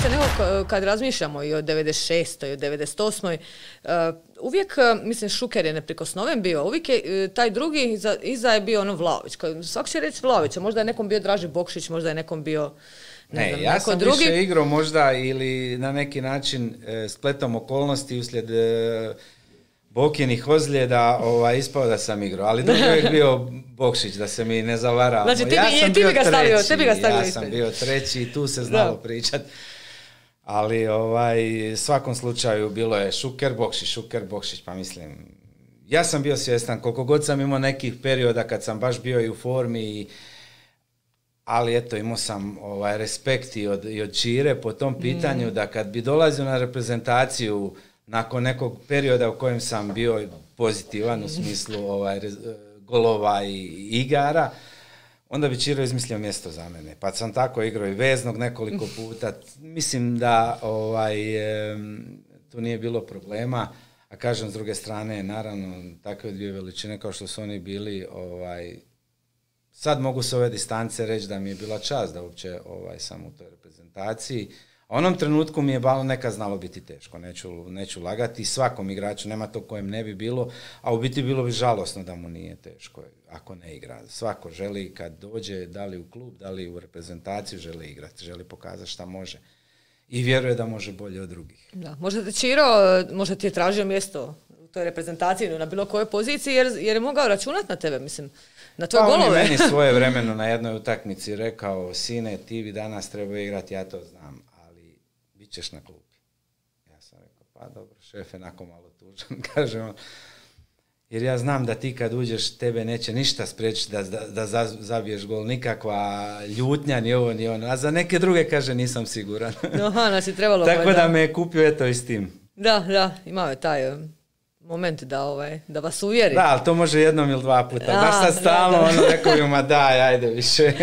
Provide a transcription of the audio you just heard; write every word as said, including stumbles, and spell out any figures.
Se nego kad razmišljamo i o devedeset šestoj i o devedeset osmoj Uh, uvijek, mislim, Šuker je neprikosnoven bio, uvijek je taj drugi iza, iza je bio ono Vlahović. Svako će reći Vlahović, možda je nekom bio Draži Bokšić, možda je nekom bio ne, ne znam, ja sam drugi. više igrao možda ili na neki način e, spletom okolnosti uslijed e, Bokinih ozljeda ovaj, ispao da sam igrao, ali drugi je bio Bokšić, da se mi ne zavaramo. Znači, ti, ja bi, sam ti bio bi ga stavio, treći, ti bi ga stavio ja ispred. sam bio treći i tu se znalo da. pričat. Ali ovaj, u svakom slučaju bilo je Šuker, Bokšić, Šuker, Bokšić, pa mislim, ja sam bio svjestan, koliko god sam imao nekih perioda kad sam baš bio i u formi, i, ali eto, imao sam ovaj, respekt i od, i od Čire po tom pitanju, mm. da kad bi dolazio na reprezentaciju nakon nekog perioda u kojem sam bio pozitivan u smislu ovaj, golova i igara, onda bi Čiro izmislio mjesto za mene. Pa sam tako igrao i veznog nekoliko puta. Mislim da ovaj, e, tu nije bilo problema, a kažem s druge strane, naravno, takve dvije veličine kao što su oni bili, ovaj, sad mogu s ove distance reći da mi je bila čast da uopće ovaj, sam u toj reprezentaciji. A onom trenutku mi je balo neka znalo biti teško, neću, neću lagati, svakom igraču, nema to kojem ne bi bilo, a u biti bilo bi žalosno da mu nije teško ako ne igra. Svako želi kad dođe, da li u klub, da li u reprezentaciju, želi igrati, želi pokazati šta može i vjeruje da može bolje od drugih. Da, možda te Čiro, možda ti je tražio mjesto u toj reprezentaciji, na bilo kojoj poziciji, jer, jer je mogao računati na tebe, mislim, na tvoje pa golove. Pa on je meni svoje vremeno na jednoj utakmici rekao, sine, ti bi danas trebao igrati, ja to znam, bit ćeš na klupi. Ja sam rekao, pa dobro, šef je nakon malo tužan, kaže on, jer ja znam da ti kad uđeš, tebe neće ništa spriječiti da, da, da zabiješ gol, nikakva ljutnja, ni ovo, ni ono, a za neke druge, kaže, nisam siguran. Aha, nas je trebalo. Tako da me je kupio, eto, i s tim. Da, da, imao je taj moment da, ovaj, da vas uvjeri. Da, ali to može jednom ili dva puta. Baš sad stalno, ono, rekao bi, ma daj, ajde više.